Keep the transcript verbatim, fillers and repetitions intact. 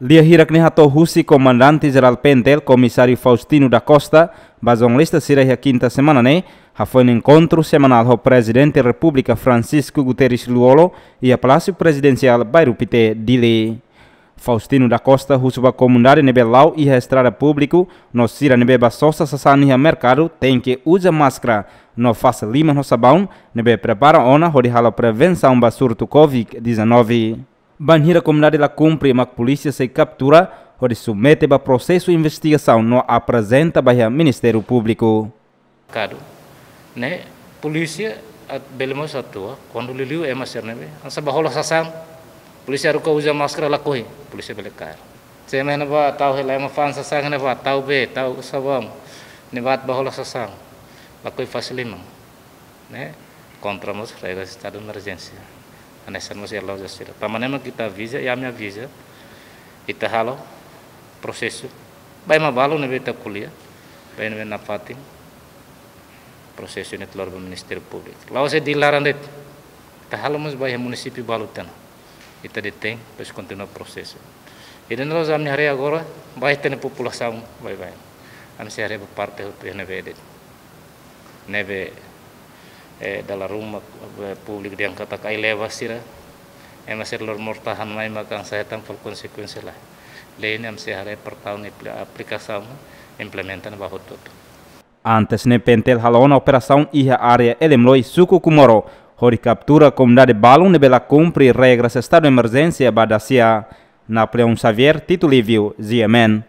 Lia hirak ne'e hato'o husi Komandante Jerál PNTL, Komisáriu Faustino da Costa, ba jornalista sira iha kinta semana ne'e, hafoin enkontru semanál ho Prezidente Repúblika Francisco Guterres Lú-Olo, iha Palásiu Prezidensiál, Bairru Pité, Dili. Faustino da Costa husu ba komunidade ne'ebé la'o iha estrada públiku, no sira ne'ebé bá sosa sasán iha merkadu, tenke uza máskara, no fase liman ho sabaun, ne'ebé prepara ona hodi halo prevensaun ba surtu Covid dezanove. Bainhira komunidade la kumpre mak polísia sei kaptura, hodi submete ba prosesu investigasaun no aprezenta ba iha Ministériu Públiku. Kadu, ne'e, polísia at-, bele mós atua, kuandu liuliu ema sira ne'ebé hanesan bá hola sasán, polísia haruka uza máskara lakohi, polísia bele kaer. Se ema ne'ebá tau hela ema fa'an sasán ne'ebá tau bee, tau sabaun, ne'ebá bá hola sasán, lakohi fase liman. Ne'e, kontra mós regras estadu emerjénsia. Hanesan mós iha loja sira. Tanba ne'e mak ita aviza, i ami aviza, ita halo prosesu. Ba ema balu ne'ebé ita ko'alia, ba ema ne'ebé nafatin, prosesu ne'e ita lori ba Ministériu Públiku. La'ós de'it laran de'it, ita halo mós ba iha munisípiu balu tiha ona. Ita detein, depois kontinua prosesu. Ida-ne'e la'ós ami haree agora, ba ita-nia populasaun baibain. Ami sei haree ba parte hotu iha ne'ebé de'it. Ne'ebé, eh, dala ruma, eh, públiku dehan katak ai-leva sira, ema sira lori mortahan mai mak hanesan hetan fali konsekuénsia lae. Lei ne'e ami sei haree portaun ne'e apli-, aplikasaun, implementa ne'e ba hotu-hotu. Antes ne'e PNTL halo ona operasaun iha área Elemloi, suku Comoro, hodi kaptura komunidade balun ne'ebé la kumpre regras estadu emerjénsia ba dasia. Napoleão Xavier, Tito Livio, G M N.